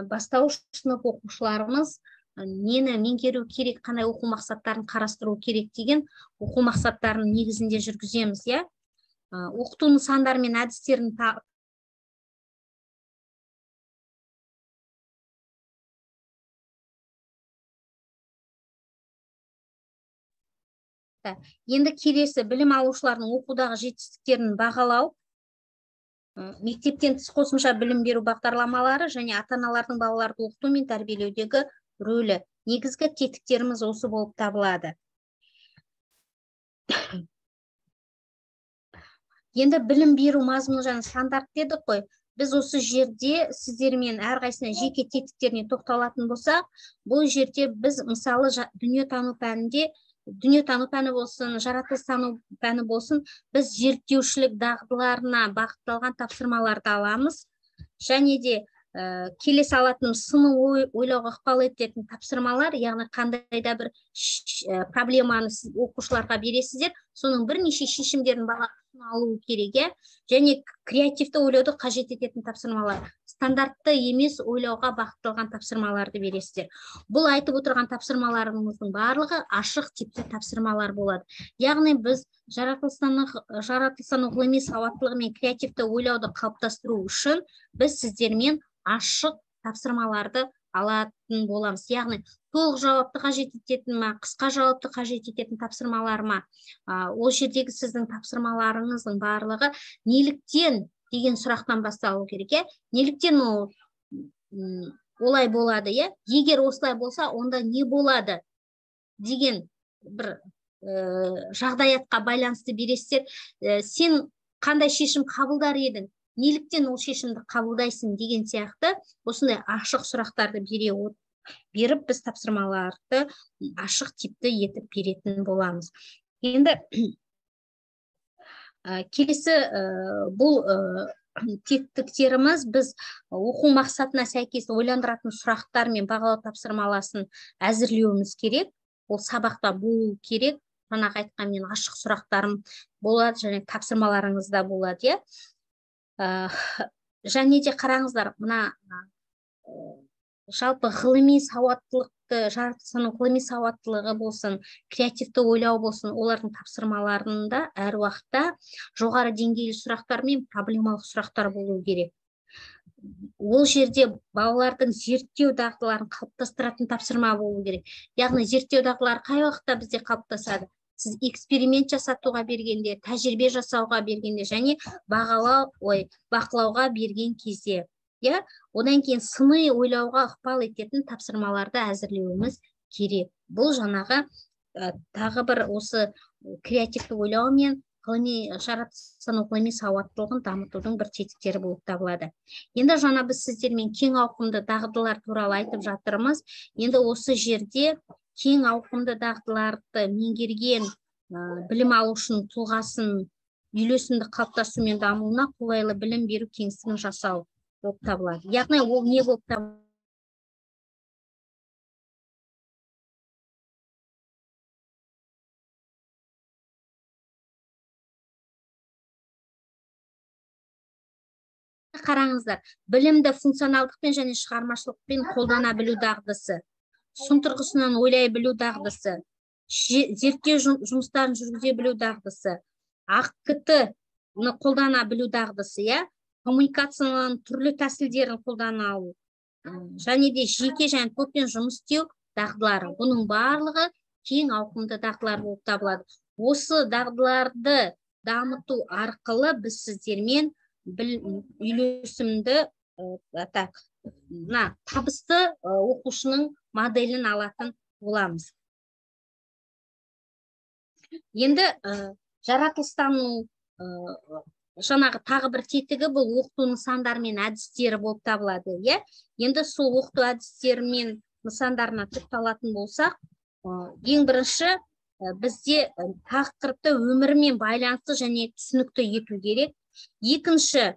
бастауыш сынып оқушыларымыз нені меңгеру керек, қандай оқу мақсаттарын қарастыру керек деген оқу мақсаттарын негізінде жүргіземіз, я? Оқыту нысандары мен әдістерін Енді келесі білім алушылардың оқудағы жетістіктерін бағалау, мектептен тыс қосымша білім беру бағдарламалары және ата-аналардың балаларды оқыту мен тәрбиелеудегі рөлі. Негізгі тетіктеріміз осы болып табылады. Енді білім беру мазмұны және стандарт дедік қой. Біз осы жерде сіздермен әрқайсына жеке тетіктеріне тоқталатын болсақ, бұл жерде біз мысалы дүниетану пәнінде, дүниетану пәні болсын, жаратылыстану пәні болсын, біз зерттеушілік дағдыларына бағытталған тапсырмаларды аламыз. Және де келесі алатын сыни ойлауға ықпал ететін тапсырмалар, яғни қандай да бір проблеманы оқушыларға бересіздер, соның бірнеше шешімдерін бала алу керек, және креативті ойлауды қажет ететін тапсырмалар. Стандартты емес ойлауға бағытталған тапсырмаларды бересіздер. Бұл айтып отырған тапсырмаларымыздың барлығы ашық типті тапсырмалар болады. Яғни біз жаратылыстану ғылыми сауаттылығы мен креативті ойлауды қалыптастыру үшін біз сіздермен ашық тапсырмаларды алатын боламыз. Яғни толық жауапты қажет ететін ма, қысқа жауапты қажет ететін тапсырмалар ма, ол жердегі сіздің тапсырмаларыңыздың барлығы неліктен деген сұрақтан басталу керек, е? Неліктен ол олай болады, е? Егер осылай болса, онда не болады деген бір жағдаятқа байланысты бересіздер. Сен қандай шешім қабылдар едің? Неліктен ол шешімді қабылдайсың деген сияқты осындай ашық сұрақтарды бере беріп біз тапсырмаларды ашық типті етіп беретін боламыз. Енді келесі бұл тетіктеріміз біз оқу мақсатына сәйкес ойландыратын сұрақтар мен бағалау тапсырмаласын әзірлеуіміз керек. Ол сабақта болу керек. Жаңағы айтқан мен ашық сұрақтарым болады және тапсырмаларыңызда болады, е? Және де қараңыздар, мына жалпы ғылыми сауаттылықты, жаратылыстану санау ғылыми сауаттылығы болсын, креативті ойлау болсын, олардың тапсырмаларында әр уақытта жоғары деңгейлі сұрақтар мен проблемалық сұрақтар болу керек. Ол жерде балалардың зерттеу дағдыларын қалыптастыратын тапсырма болу керек. Яғни зерттеу дағдылары қай уақытта бізде қалыптасады? Сіз эксперимент жасатуға бергенде, тәжірибе жасауға бергенде және бағалау, ой, бақылауға берген кезде. Я, одан кейін сыни ойлауға ықпал ететін тапсырмаларды әзірлеуіміз керек. Бұл жаңағы тағы бір осы креативті ойлау мен ғылыми жаратылыстану ғылыми сауаттылығын дамытудың бір тетіктері болып табылады. Енді жаңа біз сіздермен кең ауқымды дағдылар туралы айтып жатырмыз. Енді осы жерде кең ауқымды дағдыларды меңгерген білім алушының тұлғасын үйлесімді қалыптасу мен дамуына қолайлы білім беру кеңістігін жасау болып табылады. Яғни ол не болып табылады? Қараңыздар, білімді функционалдықпен және шығармашылықпен қолдана білу дағдысы, сын тұрғысынан ойлай білу дағдысы, зерттеу жұмыстарын жүргізе білу дағдысы, АКТ-ны қолдана білу дағдысы, я, коммуникацияның түрлі тәсілдерін қолдана алу, және де жеке және топпен жұмыс істеу дағдылары. Бұның барлығы кең ауқымды дағдылар болып табылады. Осы дағдыларды дамыту арқылы біз сіздермен үйлесімді табысты оқушының моделін алатын боламыз. Енді жаратылыстану жаңағы тағы бір тетігі бұл оқыту нысандары мен әдістері болып табылады. Енді сол оқыту әдістері мен нысандарына тоқталатын болсақ, ең бірінші бізде тақырыпты өмірмен байланысты және түсінікті ету керек. Екінші,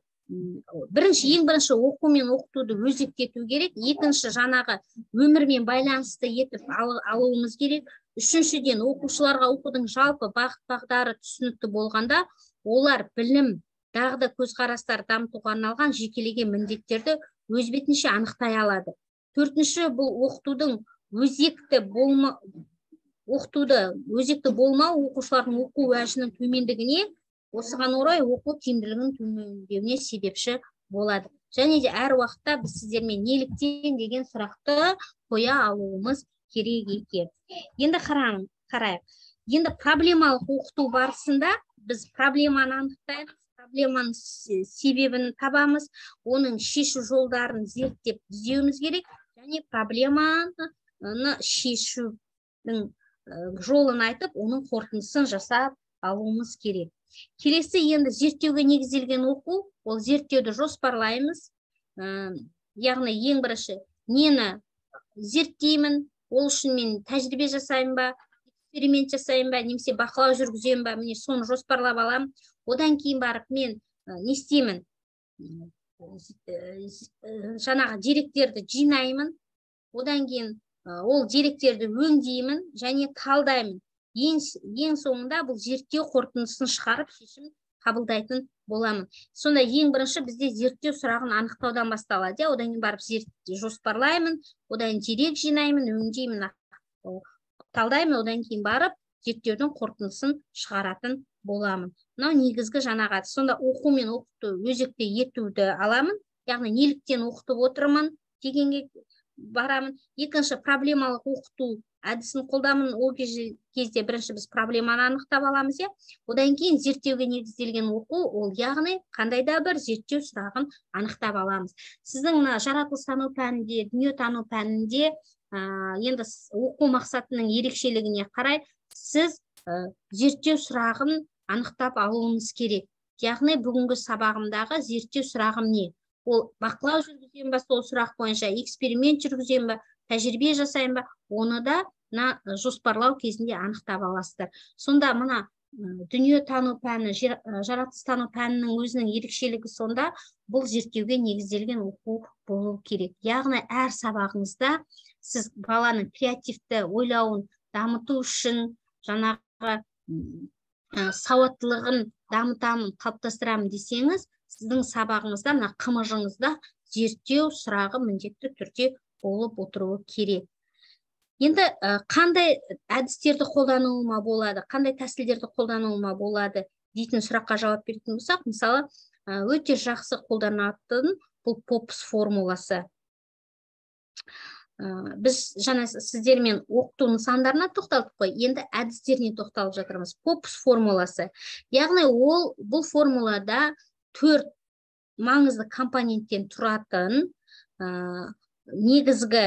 бірінші, ең бірінші оқу мен оқытуды өзекті ету керек. Екінші, жаңағы өмірмен байланысты етіп алуымыз керек. Үшіншіден, оқушыларға оқудың жалпы бағыт-бағдары түсінікті болғанда, олар білім, дағды, көзқарастар дамытуға арналған жекелеген міндеттерді өз бетінше анықтай алады. Төртінші, бұл оқытудың өзекті болма, оқытуды өзекті болмау оқушылардың оқу уәжінің төмендігіне, осыған орай оқу тиімділігінің төмендеуіне себепші болады. Және де әр уақытта біз сіздермен неліктен деген сұрақты қоя алуымыз керек екен. Енді қарайық. Енді проблемалық оқыту барысында біз проблеманы анықтаймыз, проблеманың себебін табамыз, оның шешу жолдарын зерттеп іздеуіміз керек, және проблеманы шешудің жолын айтып, оның қорытындысын жасап алуымыз керек. Келесі, енді зерттеуге негізделген оқу, ол зерттеуді жоспарлаймыз. Яғни ең бірінші, нені зерттеймін, ол үшін мен тәжірибе жасаймын ба, эксперимент жасаймын ба, немесе бақылау жүргіземін ба, міне соны жоспарлап аламын. Одан кейін барып мен не істеймін? Жаңағы деректерді жинаймын. Одан кейін ол деректерді өңдеймін және талдаймын. Ең соңында бұл зерттеу қорытындысын шығарып шешім қабылдайтын боламын. Сонда ең бірінші бізде зерттеу сұрағын анықтаудан басталады. Одан кейін барып зерттеу жоспарлаймын, одан дерек жинаймын, өңдеймін, талдаймын, одан кейін барып зерттеудің қорытындысын шығаратын боламын. Мынау негізгі жаңағы. Сонда оқу мен оқыту өзекті етуді аламын. Яғни неліктен оқытып отырмын дегенге барамын. Екінші, проблемалық оқыту әдісін қолдамын. Ол кезде бірінші біз проблеманы анықтап аламыз, иә. Одан кейін зерттеуге негізделген оқу, ол яғни қандай да бір зерттеу сұрағын анықтап аламыз. Сіздің мына жаратылыстану пәнінде, дүниетану пәнінде енді оқу мақсатының ерекшелігіне қарай сіз зерттеу сұрағын анықтап алуыңыз керек. Яғни бүгінгі сабағымдағы зерттеу сұрағым не? Ол бақылау жүргіземін ба, сол сұрақ бойынша эксперимент жүргіземін ба, тәжірибе жасаймын ба, оны да мына жоспарлау кезінде анықтап аласыздар. Сонда мына дүниетану пәні, жаратылыстану пәнінің өзінің ерекшелігі сонда бұл зерттеуге негізделген оқу болу керек. Яғни әр сабағыңызда сіз баланың креативті ойлауын дамыту үшін, жаңағы сауаттылығын дамытамын, қалыптастырамын десеңіз, сіздің сабағыңызда, мына қымыжыңызда зерттеу сұрағы міндетті түрде болып отыруы керек. Енді қандай әдістерді қолдануыма болады, қандай тәсілдерді қолдануыма болады дейтін сұраққа жауап беретін болсақ, мысалы, өте жақсы қолданатын бұл попс формуласы. Біз жаңа сіздермен оқыту нысандарына тоқталдық қой, енді әдістеріне тоқталып жатырмыз. попс формуласы. Яғни ол бұл формулада төрт маңызды компоненттен тұратын негізгі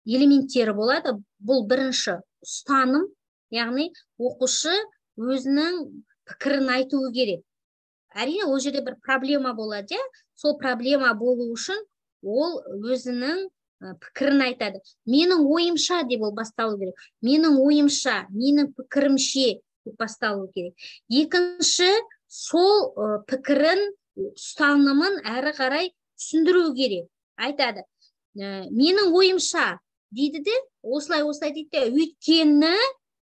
элементтері болады. Бұл бірінші ұстаным, яғни оқушы өзінің пікірін айтуы керек. Әрине, ол жерде бір проблема болады, сол проблема болу үшін ол өзінің пікірін айтады. Менің ойымша деп ол басталу керек. Менің ойымша, менің пікірімше деп басталу керек. Екінші, сол пікірін, ұстанымын әрі қарай түсіндіру керек. Айтады, менің ойымша дейді де, осылай осылай дейді де, өйткені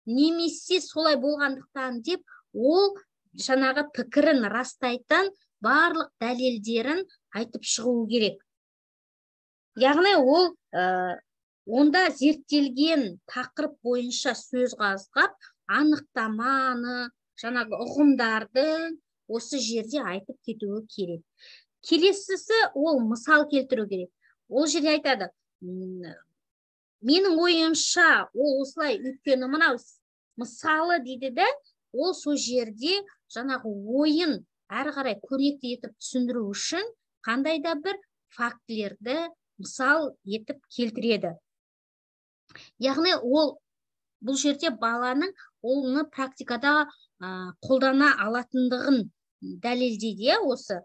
немесе солай болғандықтан деп, ол жаңағы пікірін растайтын барлық дәлелдерін айтып шығу керек. Яғни ол онда зерттелген тақырып бойынша сөз қозғап, анықтаманы, жаңағы ұғымдарды осы жерде айтып кетуі керек. Келесісі ол мысал келтіру керек. Ол жерде айтады, менің ойымша ол осылай, өйткені мынау мысалы дейді де, ол сол жерде жаңағы ойын әрі қарай көрнекті етіп түсіндіру үшін қандай да бір фактілерді мысал етіп келтіреді. Яғни ол бұл жерде баланың оны практикада қолдана алатындығын дәлелдейді, осы.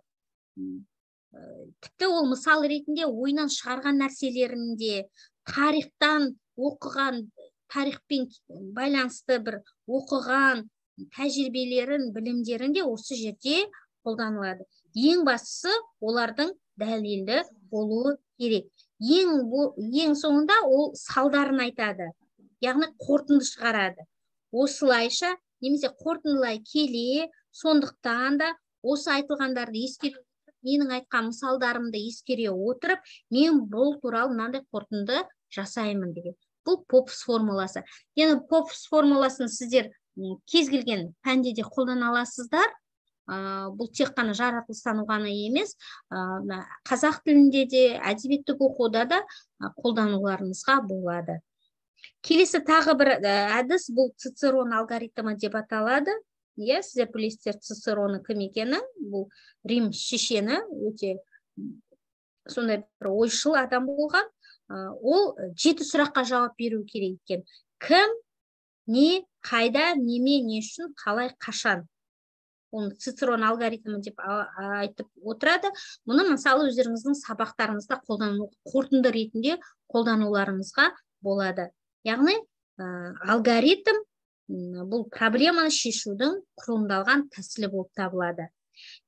Тіпті ол мысал ретінде ойынан шығарған нәрселерінде, тарихтан оқыған, тарихпен байланысты бір оқыған тәжірибелерін, білімдерінде осы жерде қолданылады. Ең бастысы олардың дәлелді болуы керек. Ең, ең соңында ол салдарын айтады. Яғни қорытынды шығарады. Осылайша, немесе қорытындылай келе, сондықтан да осы айтылғандарды ескере, менің айтқан мысалдарымды ескере отырып, мен бұл туралы мынандай қорытынды жасаймын деген. Бұл попс формуласы. Яғни попс формуласын сіздер кез келген пәнде де қолдана аласыздар. Бұл тек қана жаратылыстану ғана емес, қазақ тілінде де, әдебиеттік оқуда да қолдануларыңызға болады. Келесі тағы бір әдіс, бұл Цицерон алгоритмі деп аталады. Иә, сіздер білесіздер Цицероны кім екенін, бұл Рим шешені, өте сондай бір ойшыл адам болған. Ол жеті сұраққа жауап беру керек екен. Кім, не, қайда, неме, не үшін, қалай, қашан. Оны Цицерон алгоритмі деп айтып отырады. Мұны мысалы өздеріңіздің сабақтарыңызда қолдану, қорытынды ретінде қолдануларыңызға болады. Яғни алгоритм бұл проблеманы шешудің құрылымдалған тәсілі болып табылады.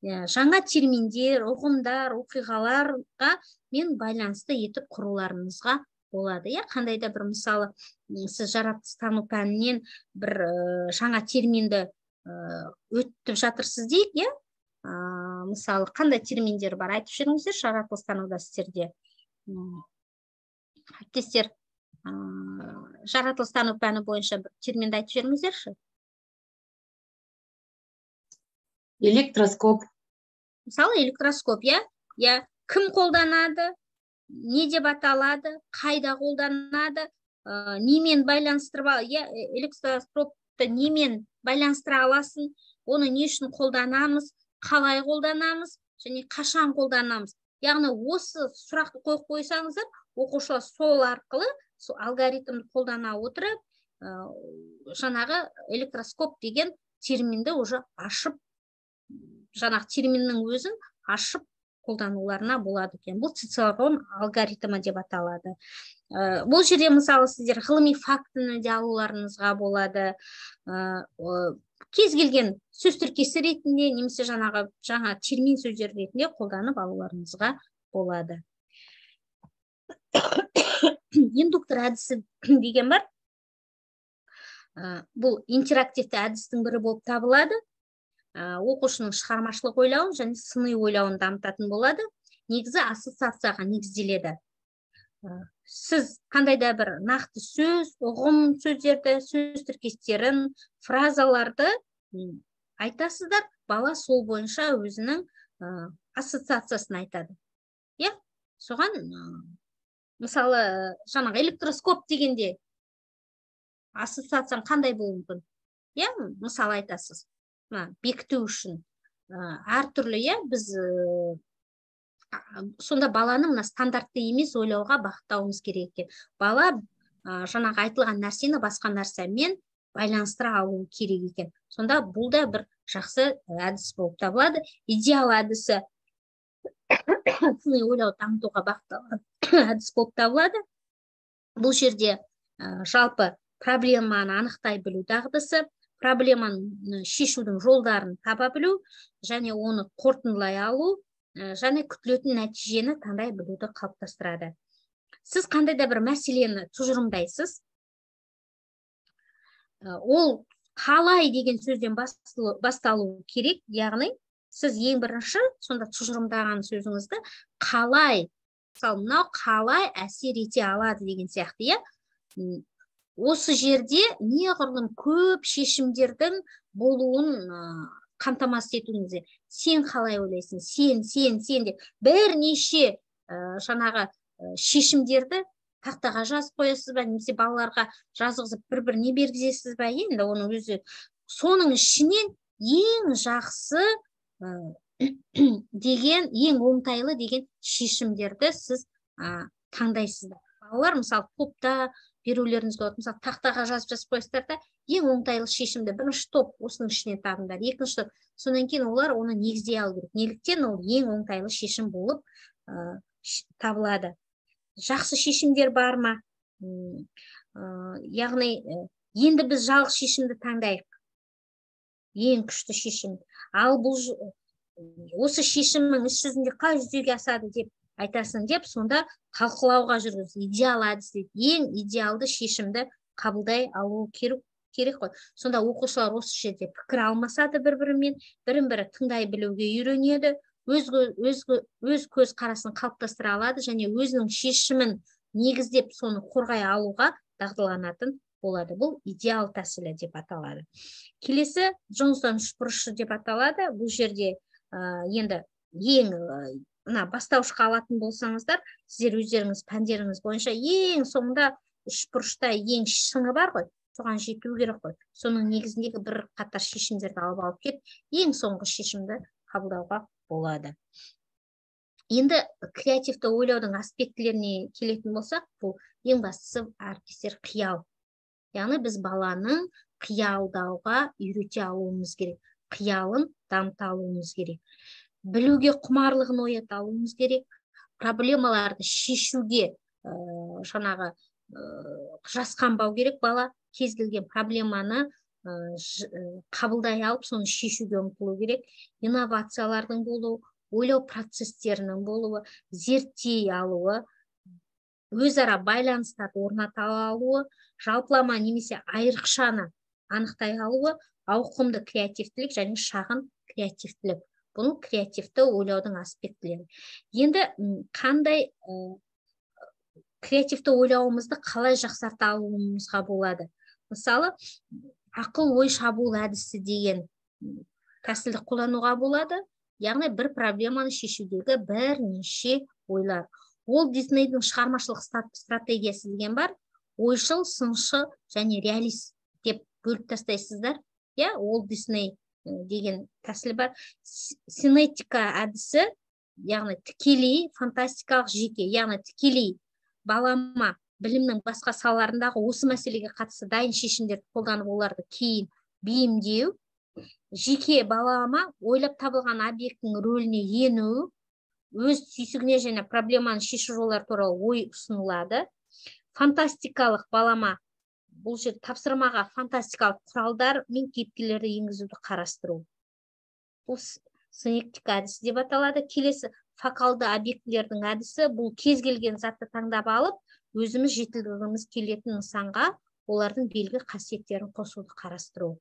Жаңа терминдер, ұғымдар, оқиғаларға мен байланысты етіп құруларыңызға болады. Қандай да бір мысалы, сіз жаратылыстану пәнінен бір жаңа терминді өтіп жатырсыз дейік, мысалы, қандай терминдер бар, айтып жүріңіздер жаратылыстануда сіздерде. Әріптестер, жаратылыстану пәні бойынша бір терминді айтып жүріңіздерші. Электроскоп. Мысалы, электроскоп, я? Я кім қолданады, не деп аталады, қайда қолданады, немен байланыстырып, электроскопты немен байланыстыра аласың, оны не үшін қолданамыз, қалай қолданамыз және қашан қолданамыз. Яғни осы сұрақты қойып қойсаңыздар, оқушылар сол арқылы сол алгоритмді қолдана отырып, жаңағы электроскоп деген терминді уже ашып, жаңағы терминнің өзін ашып қолдануларына болады екен. Бұл цицерон алгоритмі деп аталады. Бұл жерде мысалы сіздер ғылыми фактіні де алуларыңызға болады. Кез келген сөз тіркесі ретінде немесе жаңағы жаңа термин сөздер ретінде қолданып алуларыңызға болады. Индуктор әдісі деген бар. Бұл интерактивті әдістің бірі болып табылады. Оқушының шығармашылық ойлауын және сыни ойлауын дамытатын болады. Негізі ассоциацияға негізделеді. Сіз қандай да бір нақты сөз, ұғым сөздерді, сөз тіркестерін, фразаларды айтасыздар, бала сол бойынша өзінің ассоциациясын айтады. Иә, соған мысалы жаңағы электроскоп дегенде ассоциацияң қандай болуы мүмкін? Иә, мысалы айтасыз. Бекіту үшін әртүрлі, иә, біз сонда баланы мына стандартты емес ойлауға бағыттауымыз керек екен. Бала жаңағы айтылған нәрсені басқа нәрсемен байланыстыра алу керек екен. Сонда бұл да бір жақсы әдіс болып табылады. Идеал әдісі сыни ойлауды дамытуға бағытталған әдіс болып табылады. Бұл жерде жалпы проблеманы анықтай білу дағдысы, проблеманы шешудің жолдарын таба білу және оны қорытындылай алу және күтілетін нәтижені таңдай білуді қалыптастырады. Сіз қандай да бір мәселені тұжырымдайсыз, ол қалай деген сөзден басталу керек, яғни сіз ең бірінші сонда тұжырымдаған сөзіңізді қалай, мысалы мынау қалай әсер ете алады деген сияқты, иә. Осы жерде неғұрлым көп шешімдердің болуын қамтамасыз етуіңізде. Сен қалай ойлайсың? Сен, сен, сен деп бірнеше жаңағы шешімдерді тақтаға жазып қоясыз ба, немесе балаларға жазғызып бір-біріне бергізесіз ба? Енді оның өзі соның ішінен ең жақсы деген, ең оңтайлы деген шешімдерді сіз таңдайсыздар. Балалар мысалы топта берулеріңіз болады. Мысалы тақтаға жазып жазып қойсыздар да, ең оңтайлы шешімді бірінші топ осының ішінен табыңдар. Екінші топ, содан кейін олар оны негіздей алу керек. Неліктен ол ең оңтайлы шешім болып табылады. Жақсы шешімдер бар ма? Яғни енді біз жалғыз шешімді таңдайық. Ең күшті шешім. Ал бұл осы шешімнің іс жүзінде қалай жүзеге асады деп айтасың деп, сонда талқылауға жүргіз. Идеал әдіс дейді. Ең идеалды шешімді қабылдай алу керек қой. Сонда оқушылар осы жерде пікір алмасады бір-бірімен, бірін-бірі тыңдай білуге үйренеді, өз өз көз қарасын қалыптастыра алады және өзінің шешімін негіздеп соны қорғай алуға дағдыланатын болады. Бұл идеал тәсілі деп аталады. Келесі Джонстон үшбұрышы деп аталады. Бұл жерде енді ең бастаушыға алатын болсаңыздар, сіздер өздеріңіз пәндеріңіз бойынша ең соңында үшбұрышта ең шыңы бар ғой, соған жету керек қой. Соның негізіндегі бір қатар шешімдерді алып алып кет, ең соңғы шешімді қабылдауға болады. Енді креативті ойлаудың аспектілеріне келетін болсақ, бұл ең бастысы әріптестер қиял. Яғни біз баланың қиялдауға үйрете алуымыз керек, қиялын дамыта алуымыз керек. Білуге құмарлығын оята алуымыз керек, проблемаларды шешуге жаңағы жасқанбау керек. Бала кез келген проблеманы қабылдай алып, соны шешуге ұмтылу керек. Инновациялардың болуы, ойлау процестерінің болуы, зерттей алуы, өзара байланыстарды орната алуы, жалпылама немесе айрықшаны анықтай алуы, ауқымды креативтілік және шағын креативтілік. Бұл креативті ойлаудың аспектілері. Енді қандай креативті ойлауымызды қалай жақсарта алуымызға болады? Мысалы, ақыл ой шабуыл әдісі деген тәсілді қолдануға болады. Яғни бір проблеманы шешудегі бірнеше ойлар. Уолт Диснейдің шығармашылық стратегиясы деген бар. Ойшыл, сыншы және реалист деп бөліп тастайсыздар. Я, Уолт Дисней деген тәсіл бар. Синетика әдісі, яғни тікелей фантастикалық жеке, яғни тікелей балама білімнің басқа салаларындағы осы мәселеге қатысты дайын шешімдерді қолданып оларды кейін бейімдеу, жеке балама ойлап табылған объекттің рөліне ену, өз түйсігіне және проблеманы шешу жолдары туралы ой ұсынылады. Фантастикалық балама бұл жер тапсырмаға фантастикалық құралдар мен кейіпкерлерді енгізуді қарастыру. Бұл синектика әдісі деп аталады. Келесі фокалды объектілердің әдісі, бұл кез келген затты таңдап алып, өзіміз жетілдіргіміз келетін нысанға олардың белгі қасиеттерін қосуды қарастыру.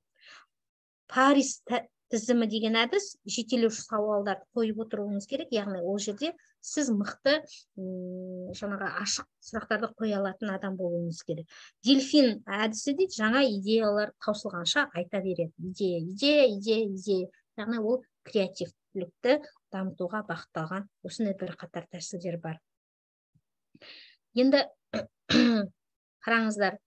Парис тізімі деген әдіс, жетелеуші сауалдарды қойып отыруыңыз керек, яғни ол жерде сіз мықты жаңағы ашық сұрақтарды қоя алатын адам болуыңыз керек. Дельфин әдісі дейді, жаңа идеялар таусылғанша айта береді. Идея, идея, идея, идея. Яғни ол креативтілікті дамытуға бағытталған осындай бір қатар тәсілдер бар. Енді қараңыздар,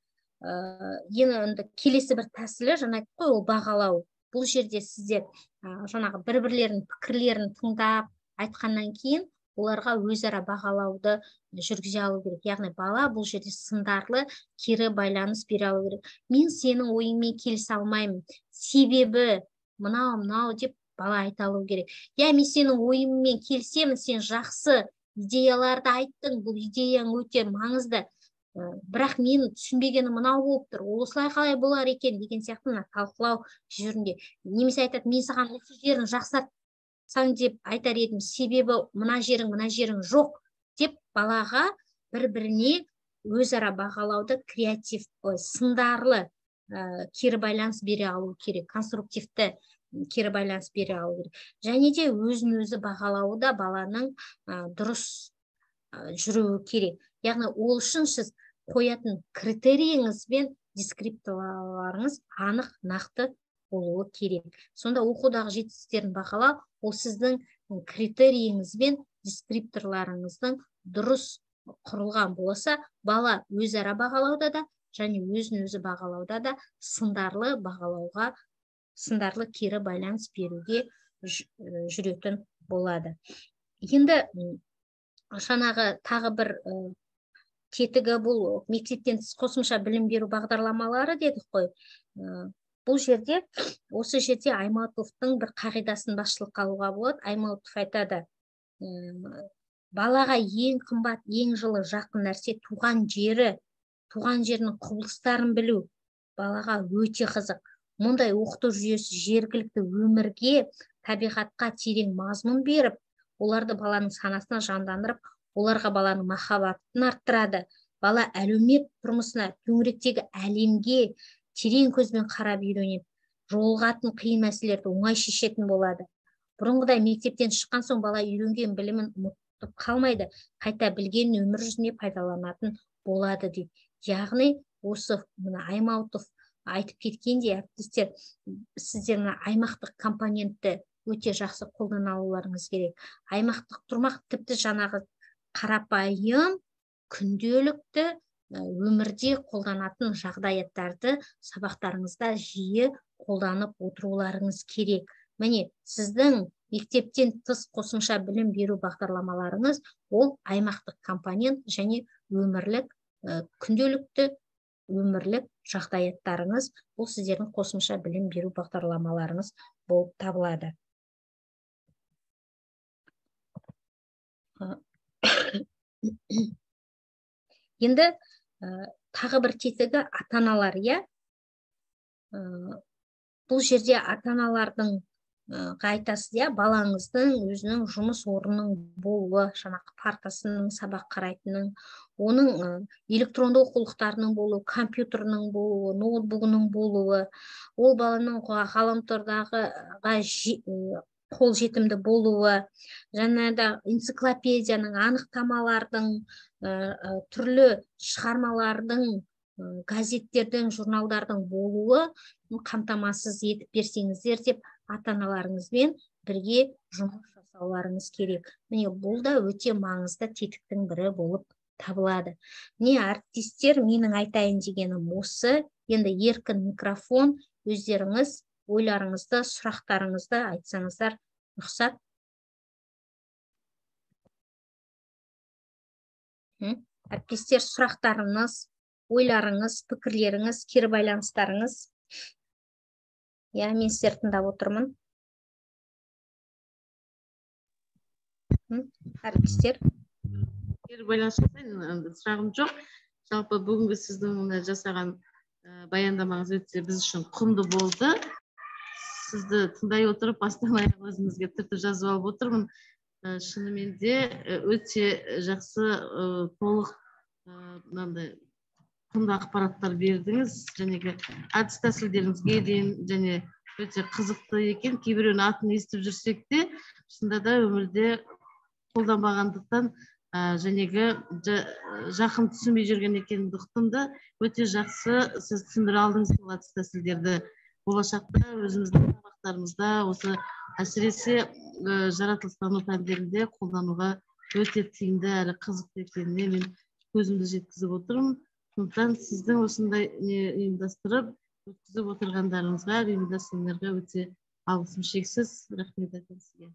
енді келесі бір тәсілі, жаңа айтып қой, ол бағалау. Бұл жерде сіздер жаңағы бір-бірлерінің пікірлерін тыңдап айтқаннан кейін оларға өзара бағалауды жүргізе алу керек. Яғни бала бұл жерде сындарлы кері байланыс бере алу керек. Мен сенің ойыңмен келісе алмаймын, себебі мынау мынау деп бала айта алу керек. Я, мен сенің ойыңмен келісемін, сен жақсы идеяларды айттың, бұл идеяң өте маңызды. Бірақ мен түсінбегені мынау болып тұр, осылай қалай болар екен деген сияқты талқылау жүрінде. Немесе айтады, мен саған осы жерін жақсартсаң деп айтар едім, себебі мына жерің, мына жерің жоқ деп балаға бір-біріне өзара бағалауды креатив, сындарлы кері байланыс бере алу керек, конструктивті кері байланыс бере алу керек. Және де өзін-өзі бағалауы баланың дұрыс жүруі керек. Яғни ол үшін сіз қоятын критерийіңіз бен дескрипторларыңыз анық, нақты болуы керек. Сонда оқудағы жетістіктерін бағалау, ол сіздің критерийіңіз бен дескрипторларыңыздың дұрыс құрылған болса, бала өзара бағалауда да және өзін-өзі бағалауда да сындарлы бағалауға, сындарлы кері байланыс беруге жүретін болады. Енді жаңағы тағы бір тетігі бұл мектептен тыс қосымша білім беру бағдарламалары дедік қой. Бұл жерде, осы жерде Аймауытовтың бір қағидасын басшылыққа алуға болады. Аймауытов айтады, балаға ең қымбат, ең жылы жақын нәрсе туған жері, туған жерінің құбылыстарын білу балаға өте қызық. Мұндай оқыту жүйесі жергілікті өмірге, табиғатқа терең мазмұн беріп, оларды баланың санасына жандандырып, оларға баланың махаббатын арттырады. Бала әлеумет тұрмысына, төңіректегі әлемге терең көзбен қарап үйренеді. Жолығатын қиын мәселелерді оңай шешетін болады. Бұрынғыдай мектептен шыққан соң бала үйренген білімін ұмытып қалмайды, қайта білген өмір жүзінде пайдаланатын болады дейді. Яғни осы мына Аймауытов айтып кеткендей, әріптестер, сіздер мына аймақтық компонентті өте жақсы қолдана алуларыңыз керек. Аймақтық тұрмақ тіпті жаңағы қарапайым күнделікті өмірде қолданатын жағдаяттарды сабақтарыңызда жиі қолданып отыруларыңыз керек. Міне, сіздің мектептен тыс қосымша білім беру бағдарламаларыңыз ол аймақтық компонент және өмірлік күнделікті өмірлік жағдаяттарыңыз, бұл сіздердің қосымша білім беру бағдарламаларыңыз болып табылады. Енді тағы бір тетігі ата-аналар, иә. Бұл жерде ата-аналардың айтасыз, иә, балаңыздың өзінің жұмыс орнының болуы, жаңағы партасының, сабақ қарайтынның, оның электронды оқулықтарының болуы, компьютерінің болуы, ноутбугының болуы, ол баланың ғаламтордағы қол жетімді болуы, және де энциклопедияның, анықтамалардың, түрлі шығармалардың, газеттердің, журналдардың болуы қамтамасыз етіп берсеңіздер деп ата-аналарыңызбен бірге жұмыс жасауларыңыз керек. Міне бұл да өте маңызды тетіктің бірі болып табылады. Не әріптестер, менің айтайын дегенім осы. Енді еркін микрофон, өздеріңіз ойларыңызды, сұрақтарыңызды айтсаңыздар рұқсат. Әріптестер, сұрақтарыңыз, ойларыңыз, пікірлеріңіз, кері байланыстарыңыз. Я, мен сіздерді тыңдап отырмын. Әріптестер. Кері байланыстарыңыз, сұрағым жоқ. Жалпы бүгінгі сіздің жасаған баяндамаңыз өте біз үшін құнды болды. Сізді тыңдай отырып, бастан аяқ өзімізге түртіп жазып алып отырмын. Шынымен де өте жақсы, толық мынандай құнды ақпараттар бердіңіз. Жәнегі әдіс тәсілдеріңізге дейін және өте қызықты екен. Кейбіреуінің атын естіп жүрсек те, шынында да өмірде қолданбағандықтан жәнегі жақын түсінбей жүрген екендіктен де өте жақсы сіз түсіндіре алдыңыз бұл әдіс тәсілдерді. Болашақта өзіміздің сабақтарымызда осы әсіресе жаратылыстану пәндерінде қолдануға өте тиімді әрі қызықты екеніне мен көзімді жеткізіп отырмын. Сондықтан сіздің осындай ұйымдастырып өткізіп отырғандарыңызға, ұйымдастырғандарға өте алғысым шексіз. Рахмет айтамын сізге.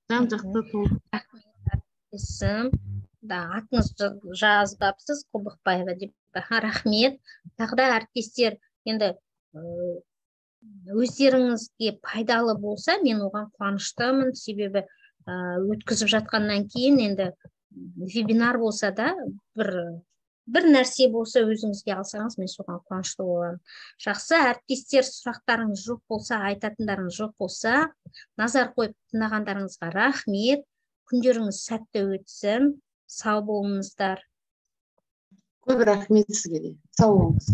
Жан-жақты толық. Рахмет. Да, атыңызды жазбапсыз, Құлбықбаева деп. Рахмет. Тағы да әріптестер, енді өздеріңізге пайдалы болса, мен оған қуаныштымын. Себебі өткізіп жатқаннан кейін енді вебинар болса да бір бір нәрсе болса өзіңізге алсаңыз, мен соған қуанышты боламын. Жақсы, әріптестер, сұрақтарыңыз жоқ болса, айтатындарыңыз жоқ болса, назар қойып тыңдағандарыңызға рахмет. Күндеріңіз сәтті өтсін. Сау болыңыздар. Көп рахмет сізге де. Сау болыңыз.